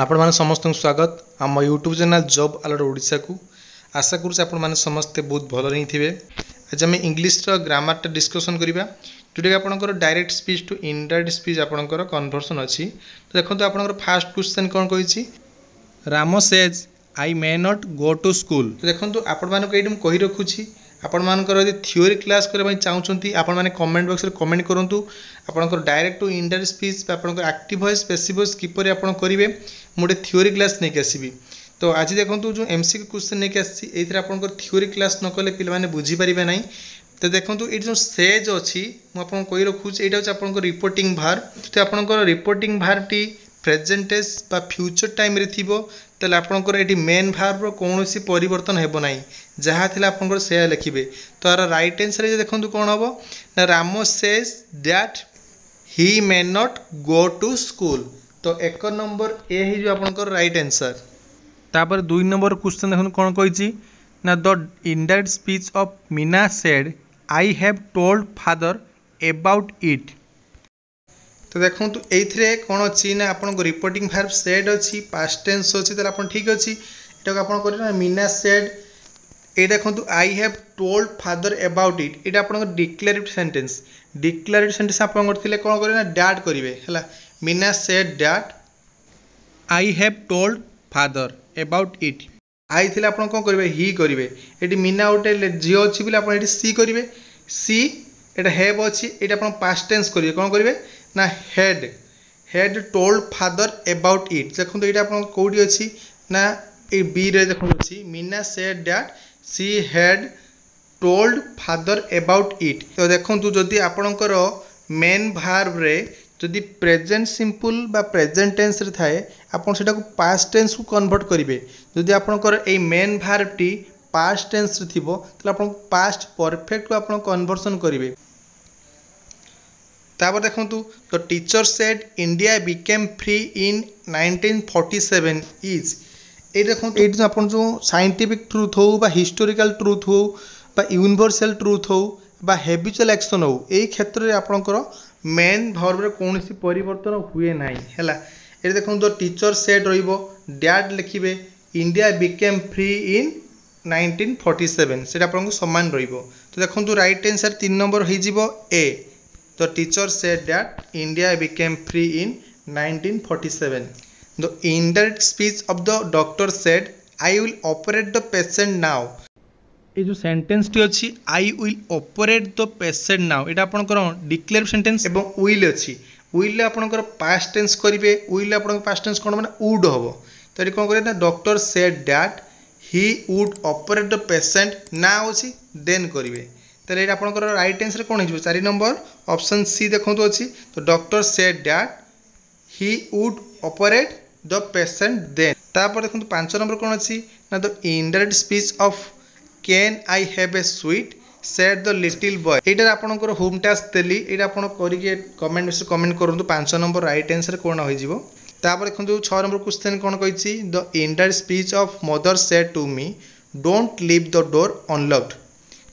ଆପଣମାନେ ସମସ୍ତଙ୍କୁ ସ୍ୱାଗତ ଆମ ୟୁଟ୍ୟୁବ୍ ଚ୍ୟାନେଲ୍ ଜବ୍ ଆଲର୍ଟ ଓଡ଼ିଶାକୁ। ଆଶା କରୁଛି ଆପଣମାନେ ସମସ୍ତେ ବହୁତ ଭଲରେ ହିଁ ଥିବେ। ଆଜି ଆମେ ଇଂଲିଶର ଗ୍ରାମାରଟା ଡିସ୍କସନ୍ କରିବା, ଯେଉଁଟାକି ଆପଣଙ୍କର direct speech to indirect speech ଆପଣଙ୍କର କନଭର୍ସନ୍ ଅଛି। ତ ଦେଖନ୍ତୁ, ଆପଣଙ୍କର ଫାଷ୍ଟ କ୍ୱେଶ୍ଚନ୍ କ'ଣ କହିଛି? Ram says I may not go to school. ତ ଦେଖନ୍ତୁ, ଆପଣମାନଙ୍କୁ ଏଇଠି ମୁଁ କହି ରଖୁଛି, ଆପଣମାନଙ୍କର ଯଦି ଥିଓରି କ୍ଲାସ୍ କରିବା ପାଇଁ ଚାହୁଁଛନ୍ତି, ଆପଣମାନେ କମେଣ୍ଟ ବକ୍ସରେ କମେଣ୍ଟ କରନ୍ତୁ। ଆପଣଙ୍କର ଡାଇରେକ୍ଟ ଟୁ ଇନଡାଇରେକ୍ଟ ସ୍ପିଚ୍ ବା ଆପଣଙ୍କର ଆକ୍ଟିଭ୍ ଭଏସ୍, ପେସିଭ୍ ଭଏସ୍ କିପରି ଆପଣ କରିବେ, ମୁଁ ଗୋଟେ ଥିଓରି କ୍ଲାସ୍ ନେଇକି ଆସିବି। ତ ଆଜି ଦେଖନ୍ତୁ, ଯେଉଁ ଏମ୍ସିକ୍ୟୁ କ୍ୱେଶ୍ଚନ୍ ନେଇକି ଆସିଛି, ଏଇଥିରେ ଆପଣଙ୍କର ଥିଓରି କ୍ଲାସ୍ ନ କଲେ ପିଲାମାନେ ବୁଝିପାରିବେ ନାହିଁ। ତ ଦେଖନ୍ତୁ, ଏଇଠି ଯେଉଁ ସେଜ୍ ଅଛି, ମୁଁ ଆପଣଙ୍କୁ କହି ରଖୁଛି, ଏଇଟା ହେଉଛି ଆପଣଙ୍କ ରିପୋର୍ଟିଂ ଭାର୍ବ। ତ ଆପଣଙ୍କର ରିପୋର୍ଟିଂ ଭାର୍ବଟି ପ୍ରେଜେଣ୍ଟ ଟେନ୍ସ ବା ଫ୍ୟୁଚର୍ ଟାଇମ୍ରେ ଥିବ, ତାହେଲେ ଆପଣଙ୍କର ଏଠି ମେନ୍ ଭାର୍ବର କୌଣସି ପରିବର୍ତ୍ତନ ହେବ ନାହିଁ। ଯାହା ଥିଲା ଆପଣଙ୍କର ସେୟା ଲେଖିବେ। ତ ଆର ରାଇଟ୍ ଆନ୍ସର୍ ଦେଖନ୍ତୁ କ'ଣ ହେବ ନା, Ram says that he may not go to school. ତ 1 ନମ୍ବର ଏ ହେଇଯିବ ଆପଣଙ୍କର ରାଇଟ୍ ଆନ୍ସର୍। ତାପରେ 2 ନମ୍ବର କ୍ୱେଶ୍ଚନ୍ ଦେଖନ୍ତୁ କ'ଣ କହିଛି ନା, the indirect speech of Meena said, "I have told father about it." ତ ଦେଖନ୍ତୁ, ଏଇଥିରେ କ'ଣ ଅଛି ନା, ଆପଣଙ୍କ ରିପୋର୍ଟିଂ ଭାର୍ବ ସେଡ୍ ଅଛି, ପାଷ୍ଟ ଟେନ୍ସ ଅଛି। ତାହେଲେ ଆପଣ ଠିକ୍ ଅଛି, ଏଟାକୁ ଆପଣ କରିବେ ନା, ମିନା ସେଡ୍। ଏଇ ଦେଖନ୍ତୁ, "I have told father about it", ଏଇଟା ଆପଣଙ୍କ ଡିକ୍ଲାରେଟିଭ୍ ସେଣ୍ଟେନ୍ସ। ଡିକ୍ଲାରେଟିଭ୍ ସେଣ୍ଟେନ୍ସ ଆପଣଙ୍କର ଥିଲେ କ'ଣ କରିବେ ନା, that କରିବେ। ହେଲା, Meena said that I have told father about it. I ଥିଲେ ଆପଣ କ'ଣ କରିବେ? ହି କରିବେ। ଏଠି ମିନା ଗୋଟେ ଝିଅ ଅଛି ବୋଲି ଆପଣ ଏଠି ସି କରିବେ। ସି, ଏଇଟା have ଅଛି, ଏଇଟା ଆପଣ ପାଷ୍ଟ ଟେନ୍ସ କରିବେ। କ'ଣ କରିବେ ନା, had told father about it. ଦେଖନ୍ତୁ, ଏଇଟା ଆପଣଙ୍କ କେଉଁଠି ଅଛି ନା, ଏଇ ବିରେ ଦେଖନ୍ତୁ ଅଛି, Meena said that she had told father about it. ତ ଦେଖନ୍ତୁ, ଯଦି ଆପଣଙ୍କର ମେନ୍ ଭାର୍ବରେ ଯଦି ପ୍ରେଜେଣ୍ଟ ସିମ୍ପଲ୍ ବା ପ୍ରେଜେଣ୍ଟ ଟେନ୍ସରେ ଥାଏ, ଆପଣ ସେଟାକୁ ପାଷ୍ଟ ଟେନ୍ସକୁ କନଭର୍ଟ କରିବେ। ଯଦି ଆପଣଙ୍କର ଏଇ ମେନ୍ ଭାର୍ବଟି ପାଷ୍ଟ ଟେନ୍ସରେ ଥିବ, ତାହେଲେ ଆପଣଙ୍କୁ ପାଷ୍ଟ ପରଫେକ୍ଟକୁ ଆପଣ କନଭର୍ସନ୍ କରିବେ। ତାପରେ ଦେଖନ୍ତୁ, the teacher said India became free in 1947 is. ଏଇଠି ଦେଖନ୍ତୁ, ଏଇଠି ଆପଣ ଯେଉଁ ସାଇଣ୍ଟିଫିକ୍ ଟ୍ରୁଥ୍ ହଉ ବା ହିଷ୍ଟୋରିକାଲ ଟ୍ରୁଥ୍ ହଉ ବା ୟୁନିଭର୍ସାଲ ଟ୍ରୁଥ୍ ହଉ ବା ହେବିଚୁଆଲ୍ ଆକ୍ସନ୍ ହଉ, ଏଇ କ୍ଷେତ୍ରରେ ଆପଣଙ୍କର ମେନ୍ ଭର୍ବରେ କୌଣସି ପରିବର୍ତ୍ତନ ହୁଏ ନାହିଁ। ହେଲା, ଏଠି ଦେଖନ୍ତୁ, ଟିଚର ସେଡ୍ ରହିବ, that ଲେଖିବେ, India became free in 1947, ସେଇଟା ଆପଣଙ୍କୁ ସମାନ ରହିବ। ତ ଦେଖନ୍ତୁ, ରାଇଟ୍ ଆନ୍ସର୍ 3 ନମ୍ବର ହେଇଯିବ ଏ। The teacher said that India became free in 1947. The indirect speech of the doctor said, "I will operate the patient now." ଏଇ ଯେଉଁ ସେଣ୍ଟେନ୍ସଟି ଅଛି, "I will operate the patient now", ଏଇଟା ଆପଣଙ୍କର ଡିକ୍ଲେୟାର ସେଣ୍ଟେନ୍ସ ଏବଂ will ଅଛି। ୱିଲ୍ରେ ଆପଣଙ୍କର past tense କରିବେ। Will ଆପଣଙ୍କ ପାଷ୍ଟ ଟେନ୍ସ କ'ଣ ମାନେ ଉଡ୍ ହେବ। ତ ଏଠି କ'ଣ କରିବେ ନା, doctor said that he would operate the patient now ଅଛି, ଦେନ୍ କରିବେ। ତାହେଲେ ଏଇଟା ଆପଣଙ୍କର ରାଇଟ୍ ଆନ୍ସର୍ କ'ଣ ହେଇଯିବ? 4 ନମ୍ବର ଅପସନ୍ ସି ଦେଖନ୍ତୁ ଅଛି। ତ doctor said that he would operate the patient then. ତାପରେ ଦେଖନ୍ତୁ, 5 ନମ୍ବର କ'ଣ ଅଛି ନା, the indirect speech of "Can I have a sweet?" said the little boy. ଏଇଟାରେ ଆପଣଙ୍କର ହୋମ୍ ଟାସ୍କ ଦେଲି, ଏଇଟା ଆପଣ କରିକି କମେଣ୍ଟ ବକ୍ସରେ କମେଣ୍ଟ କରନ୍ତୁ, 5 ନମ୍ବର ରାଇଟ୍ ଆନ୍ସର୍ କ'ଣ ହୋଇଯିବ। ତାପରେ ଦେଖନ୍ତୁ, 6 ନମ୍ବର କ୍ୱେଶ୍ଚନ୍ କ'ଣ କହିଛି? The indirect speech of mother said to me, "Don't leave the door unlocked."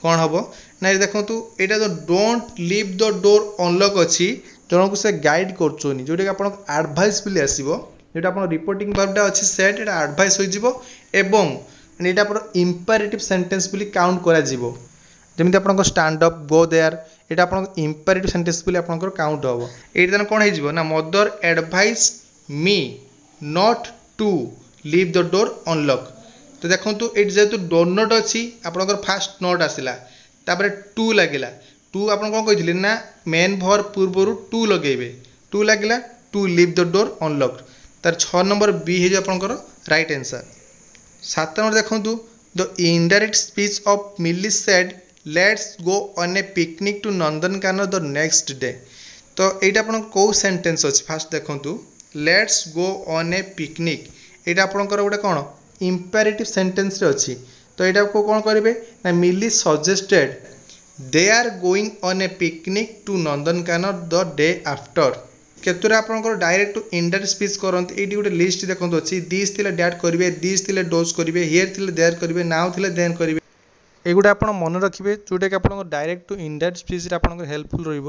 କ'ଣ ହେବ ନା, ଏଠି ଦେଖନ୍ତୁ, ଏଇଟା ଯେଉଁ "Don't leave the door unlock" ଅଛି, ଜଣକୁ ସେ ଗାଇଡ଼ କରୁଛନ୍ତି, ଯେଉଁଟାକି ଆପଣଙ୍କ ଆଡ଼ଭାଇସ୍ ବୋଲି ଆସିବ। ଯେଉଁଟା ଆପଣ ରିପୋର୍ଟିଂ ଭାର୍ବଟା ଅଛି ସେଡ୍, ଏଇଟା ଆଡ଼ଭାଇସ୍ ହୋଇଯିବ ଏବଂ ଏଇଟା ଆପଣ ଇମ୍ପାରେଟିଭ୍ ସେଣ୍ଟେନ୍ସ ବୋଲି କାଉଣ୍ଟ କରାଯିବ। ଯେମିତି ଆପଣଙ୍କ "Stand up", "Go there", ଏଇଟା ଆପଣଙ୍କ ଇମ୍ପାରେଟିଭ୍ ସେଣ୍ଟେନ୍ସ ବୋଲି ଆପଣଙ୍କର କାଉଣ୍ଟ ହେବ। ଏଇଟା ତାହେଲେ କ'ଣ ହେଇଯିବ ନା, mother advise me not to leave the door unlock. ତ ଦେଖନ୍ତୁ, ଏଇଠି ଯେହେତୁ don't not ଅଛି, ଆପଣଙ୍କର ଫାଷ୍ଟ not ଆସିଲା, ତାପରେ ଟୁ ଲାଗିଲା। ଟୁ ଆପଣ କ'ଣ କହିଥିଲେ ନା, ମେନ୍ ଭର୍ବ ପୂର୍ବରୁ ଟୁ ଲଗେଇବେ। ଟୁ ଲାଗିଲା, to leave the door unlock. ତାର 6 ନମ୍ବର ବି ହେଇଯିବ ଆପଣଙ୍କର ରାଇଟ୍ ଆନ୍ସର୍। 7 ନମ୍ବର ଦେଖନ୍ତୁ, the indirect speech of Mili said, "Let's go on a picnic to Nandankanan the next day." ତ ଏଇଟା ଆପଣଙ୍କ କେଉଁ ସେଣ୍ଟେନ୍ସ ଅଛି? ଫାଷ୍ଟ ଦେଖନ୍ତୁ, "Let's go on a picnic", ଏଇଟା ଆପଣଙ୍କର ଗୋଟେ କ'ଣ ଇମ୍ପାରେଟିଭ୍ ସେଣ୍ଟେନ୍ସରେ ଅଛି। ତ ଏଇଟାକୁ କ'ଣ କରିବେ ନା, Mili suggested they are going on a picnic to Nandankanan the day after. କେତେଟା ଆପଣଙ୍କର ଡାଇରେକ୍ଟ ଟୁ ଇନଡାଇରେକ୍ଟ ସ୍ପିଚ୍ କରନ୍ତି? ଏଇଠି ଗୋଟେ ଲିଷ୍ଟ ଦେଖନ୍ତୁ ଅଛି। This ଥିଲେ that କରିବେ, this ଥିଲେ ଡୋଜ୍ କରିବେ, here ଥିଲେ there କରିବେ, ନାଉ ଥିଲେ ଦେନ୍ କରିବେ। ଏଗୁଡ଼ା ଆପଣ ମନେ ରଖିବେ, ଯେଉଁଟାକି ଆପଣଙ୍କ ଡାଇରେକ୍ଟ ଟୁ ଇନଡାଇରେକ୍ଟ ସ୍ପିଚ୍ରେ ଆପଣଙ୍କର ହେଲ୍ପଫୁଲ୍ ରହିବ।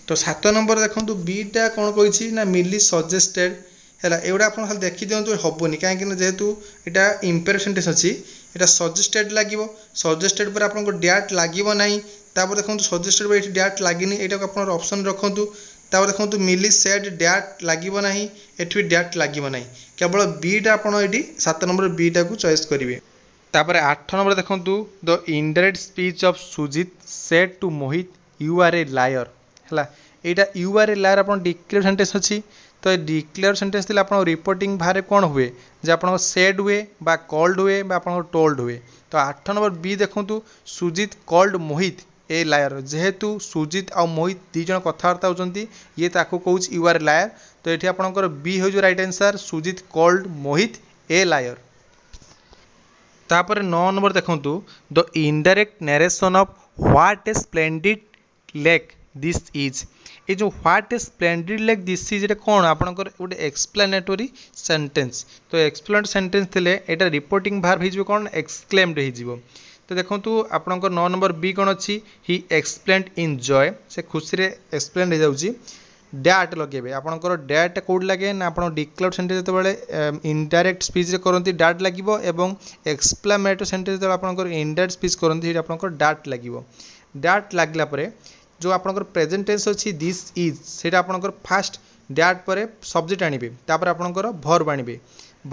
ତ 7 ନମ୍ବର ଦେଖନ୍ତୁ, ବିଟା କ'ଣ କହିଛି ନା, ମିଲି ସଜେଷ୍ଟେଡ୍ ହେଲା, ଏଗୁଡ଼ା ଆପଣ ଖାଲି ଦେଖିଦିଅନ୍ତୁ, ହେବନି, କାହିଁକିନା ଯେହେତୁ ଏଇଟା ଇମ୍ପେରେଟିଭ୍ ସେଣ୍ଟେନ୍ସ ଅଛି, ଏଇଟା ସଜେଷ୍ଟେଡ୍ ଲାଗିବ। ସଜେଷ୍ଟେଡ୍ ପରେ ଆପଣଙ୍କ that ଲାଗିବ ନାହିଁ। ତାପରେ ଦେଖନ୍ତୁ, ସଜେଷ୍ଟେଡ୍ ପରେ ଏଠି that ଲାଗିନି, ଏଇଟାକୁ ଆପଣଙ୍କର ଅପସନ୍ ରଖନ୍ତୁ। ତାପରେ ଦେଖନ୍ତୁ, ମିଲି ସେଡ୍ that ଲାଗିବ ନାହିଁ, ଏଠି ବି that ଲାଗିବ ନାହିଁ। କେବଳ ବିଟା ଆପଣ ଏଠି 7 ନମ୍ବର ବିଟାକୁ ଚଏସ୍ କରିବେ। ତାପରେ 8 ନମ୍ବର ଦେଖନ୍ତୁ, the indirect speech of Sujit said to Mohit, "You are a liar." ହେଲା, ଏଇଟା you R A liar ଆପଣ ଡିକ୍ଲେୟାର ସେଣ୍ଟେନ୍ସ ଅଛି। ତ ଏ ଡିକ୍ଲେୟାର ସେଣ୍ଟେନ୍ସ ଥିଲେ ଆପଣଙ୍କ ରିପୋର୍ଟିଂ ଭାର୍ବରେ କ'ଣ ହୁଏ ଯେ ଆପଣଙ୍କ ସେଡ୍ ହୁଏ ବା କଲ୍ଡ ହୁଏ ବା ଆପଣଙ୍କର ଟୋଲ୍ଡ ହୁଏ। ତ 8 ନମ୍ବର ବି ଦେଖନ୍ତୁ, Sujit called Mohit a liar. ଯେହେତୁ ସୁଜିତ ଆଉ ମୋହିତ ଦୁଇ ଜଣ କଥାବାର୍ତ୍ତା ହେଉଛନ୍ତି, ଇଏ ତାକୁ କହୁଛି you R liar. ତ ଏଠି ଆପଣଙ୍କର ବି ହେଉଛି right answer, Sujit called Mohit a liar. ତାପରେ 9 ନମ୍ବର ଦେଖନ୍ତୁ, the indirect narration of "What a splendid lake this is." ଏ ଯେଉଁ "What a splendid lake this is", ଏଇଟା କ'ଣ ଆପଣଙ୍କର ଗୋଟେ ଏକ୍ସପ୍ଲାନେଟୋରୀ ସେଣ୍ଟେନ୍ସ। ତ ଏକ୍ସପ୍ଲାନେଟୋରୀ ସେଣ୍ଟେନ୍ସ ଥିଲେ ଏଇଟା ରିପୋର୍ଟିଂ ଭାର୍ବ ହେଇଯିବ କ'ଣ? ଏକ୍ସକ୍ଲେମ୍ଡ ହେଇଯିବ। ତ ଦେଖନ୍ତୁ, ଆପଣଙ୍କର 9 ନମ୍ବର ବି କ'ଣ ଅଛି? He exclaimed in joy. ସେ ଖୁସିରେ ଏକ୍ସକ୍ଲେମ୍ଡ ହେଇଯାଉଛି। That ଲଗେଇବେ। ଆପଣଙ୍କର that କେଉଁଠି ଲାଗେ ନା ଆପଣ ଡିକ୍ଲେୟାର ସେଣ୍ଟେନ୍ସ ଯେତେବେଳେ ଇନଡାଇରେକ୍ଟ ସ୍ପିଚ୍ରେ କରନ୍ତି, that ଲାଗିବ ଏବଂ ଏକ୍ସକ୍ଲାମେଟୋରୀ ସେଣ୍ଟେନ୍ସ ଯେତେବେଳେ ଆପଣଙ୍କର ଇନଡାଇରେକ୍ଟ ସ୍ପିଚ୍ କରନ୍ତି, ସେଇଠି ଆପଣଙ୍କର that ଲାଗିବ। That ଲାଗିଲା ପରେ ଯେଉଁ ଆପଣଙ୍କର ପ୍ରେଜେଣ୍ଟ ଟେନ୍ସ ଅଛି this is, ସେଇଟା ଆପଣଙ୍କର ଫାଷ୍ଟ that ପରେ ସବଜେକ୍ଟ ଆଣିବେ, ତାପରେ ଆପଣଙ୍କର ଭର୍ବ ଆଣିବେ।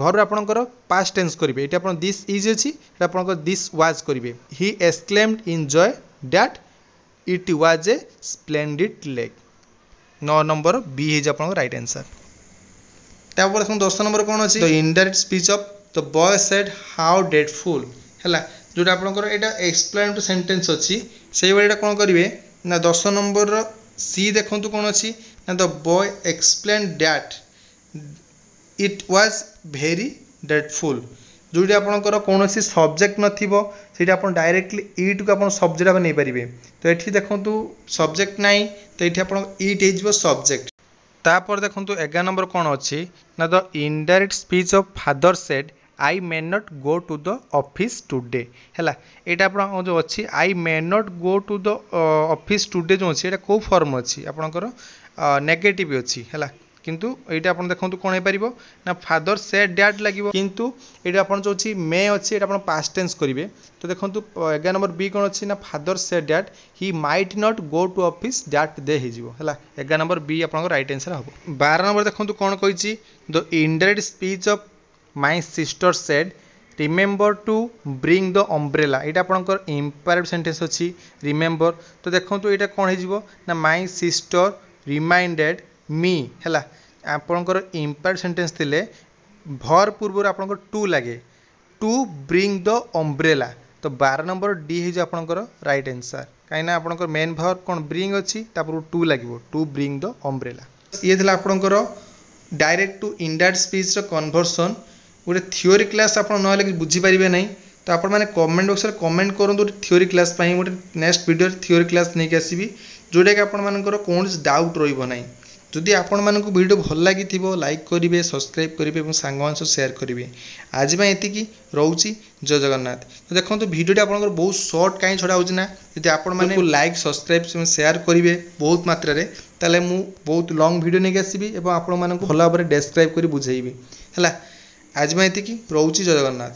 ଭର୍ବ ଆପଣଙ୍କର ପାଷ୍ଟ ଟେନ୍ସ କରିବେ। ଏଠି ଆପଣ this is ଅଛି, ଏଇଟା ଆପଣଙ୍କର this was କରିବେ। He exclaimed in joy that it was a splendid lake. 9 number ବି ହେଇଯିବ ଆପଣଙ୍କ ରାଇଟ୍ ଆନ୍ସର୍। ତାପରେ ଦେଖନ୍ତୁ, 10 ନମ୍ବର କ'ଣ ଅଛି? The indirect speech of "The boy said, 'How dreadful.' ହେଲା, ଯେଉଁଟା ଆପଣଙ୍କର ଏଇଟା ଏକ୍ସପ୍ଲାନେଟୋରୀ ସେଣ୍ଟେନ୍ସ ଅଛି, ସେଇଭଳି ଏଇଟା କ'ଣ କରିବେ ନା 10 ନମ୍ବରର ସି ଦେଖନ୍ତୁ କ'ଣ ଅଛି ନା the boy explained that it was very dreadful. ଯେଉଁଠି ଆପଣଙ୍କର କୌଣସି ସବଜେକ୍ଟ ନଥିବ, ସେଇଠି ଆପଣ ଡାଇରେକ୍ଟଲି ଇଟ୍କୁ ଆପଣ ସବଜେକ୍ଟ ଭାବେ ନେଇପାରିବେ। ତ ଏଠି ଦେଖନ୍ତୁ, ସବଜେକ୍ଟ ନାହିଁ, ତ ଏଠି ଆପଣ ଇଟ୍ ହେଇଯିବ ସବଜେକ୍ଟ। ତାପରେ ଦେଖନ୍ତୁ, 11 ନମ୍ବର କ'ଣ ଅଛି ନା the indirect speech of "Father said I may not go to the office today." ହେଲା, ଏଇଟା ଆପଣ ଯେଉଁ ଅଛି "I may not go to the office today" ଯେଉଁ ଅଛି, ଏଇଟା କେଉଁ ଫର୍ମ ଅଛି? ଆପଣଙ୍କର ନେଗେଟିଭ୍ ଅଛି। ହେଲା, କିନ୍ତୁ ଏଇଟା ଆପଣ ଦେଖନ୍ତୁ କ'ଣ ହେଇପାରିବ ନା ଫାଦର ସେଡ୍ that ଲାଗିବ, କିନ୍ତୁ ଏଇଟା ଆପଣ ଯେଉଁ ଅଛି ମେ ଅଛି, ଏଇଟା ଆପଣ ପାଷ୍ଟ ଟେନ୍ସ କରିବେ। ତ ଦେଖନ୍ତୁ, 11 ନମ୍ବର ବି କ'ଣ ଅଛି ନା "Father said that he might not go to office that day" ହେଇଯିବ। ହେଲା, 11 ନମ୍ବର ବି ଆପଣଙ୍କ ରାଇଟ୍ ଆନ୍ସର୍ ହେବ। 12 ନମ୍ବର ଦେଖନ୍ତୁ କ'ଣ କହିଛି, the indirect speech of "My sister said, 'Remember to bring the umbrella.' ଏଇଟା ଆପଣଙ୍କର ଇମ୍ପାରେଟିଭ୍ ସେଣ୍ଟେନ୍ସ ଅଛି ରିମେମ୍ବର। ତ ଦେଖନ୍ତୁ, ଏଇଟା କ'ଣ ହେଇଯିବ ନା my sister reminded me. ହେଲା, ଆପଣଙ୍କର ଇମ୍ପାରେଟିଭ୍ ସେଣ୍ଟେନ୍ସ ଥିଲେ ଭର୍ବ ପୂର୍ବରୁ ଆପଣଙ୍କର ଟୁ ଲାଗେ, ଟୁ ବ୍ରିଙ୍ଗ ଦ ଅମ୍ବ୍ରେଲା। ତ 12 ନମ୍ବର ଡି ହେଇଯିବ ଆପଣଙ୍କର ରାଇଟ୍ ଆନ୍ସର୍, କାହିଁକିନା ଆପଣଙ୍କର ମେନ୍ ଭର୍ବ କ'ଣ ବ୍ରିଙ୍ଗ ଅଛି, ତାପରକୁ ଟୁ ଲାଗିବ, ଟୁ ବ୍ରିଙ୍ଗ ଦ ଅମ୍ବ୍ରେଲା। ଇଏ ଥିଲା ଆପଣଙ୍କର ଡାଇରେକ୍ଟ ଟୁ ଇନଡାଇରେକ୍ଟ ସ୍ପିଚ୍ର କନଭର୍ସନ୍। ଗୋଟେ ଥିଓରି କ୍ଲାସ୍ ଆପଣ ନହେଲେ କିଛି ବୁଝିପାରିବେ ନାହିଁ। ତ ଆପଣମାନେ କମେଣ୍ଟ ବକ୍ସରେ କମେଣ୍ଟ କରନ୍ତୁ ଗୋଟେ ଥିଓରି କ୍ଲାସ୍ ପାଇଁ। ଗୋଟେ ନେକ୍ସଟ ଭିଡ଼ିଓରେ ଥିଓରି କ୍ଲାସ୍ ନେଇକି ଆସିବି, ଯେଉଁଟାକି ଆପଣମାନଙ୍କର କୌଣସି ଡାଉଟ୍ ରହିବ ନାହିଁ। ଯଦି ଆପଣମାନଙ୍କୁ ଭିଡ଼ିଓ ଭଲ ଲାଗିଥିବ, ଲାଇକ୍ କରିବେ, ସବସ୍କ୍ରାଇବ୍ କରିବେ ଏବଂ ସାଙ୍ଗମାନଙ୍କ ସହ ସେୟାର କରିବେ। ଆଜି ପାଇଁ ଏତିକି ରହୁଛି। ଜୟ ଜଗନ୍ନାଥ। ତ ଦେଖନ୍ତୁ, ଭିଡ଼ିଓଟି ଆପଣଙ୍କର ବହୁତ ସର୍ଟ କାହିଁ ଛଡ଼ା ହେଉଛି ନା ଯଦି ଆପଣମାନେ ଲାଇକ୍, ସବସ୍କ୍ରାଇବ୍, ସେୟାର କରିବେ ବହୁତ ମାତ୍ରାରେ, ତାହେଲେ ମୁଁ ବହୁତ ଲଙ୍ଗ୍ ଭିଡ଼ିଓ ନେଇକି ଆସିବି ଏବଂ ଆପଣମାନଙ୍କୁ ଭଲ ଭାବରେ ଡେସ୍କ୍ରାଇବ୍ କରି ବୁଝେଇବି। ହେଲା, ଆଜି ପାଇଁ ଏତିକି ରହୁଛି। ଜୟ ଜଗନ୍ନାଥ।